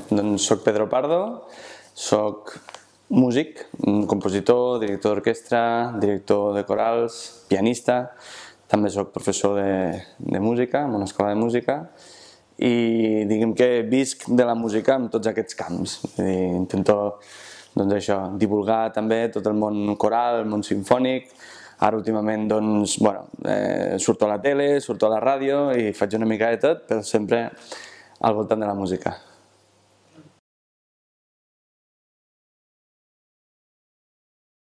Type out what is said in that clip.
Doncs soc Pedro Pardo, soc músic, compositor, director d'orquestra, director de corals, pianista, també soc professor de música en una escola de música i diguem que visc de la música en tots aquests camps. Intento divulgar també tot el món coral, el món simfònic. Ara últimament surto a la tele, surto a la ràdio i faig una mica de tot, però sempre al voltant de la música.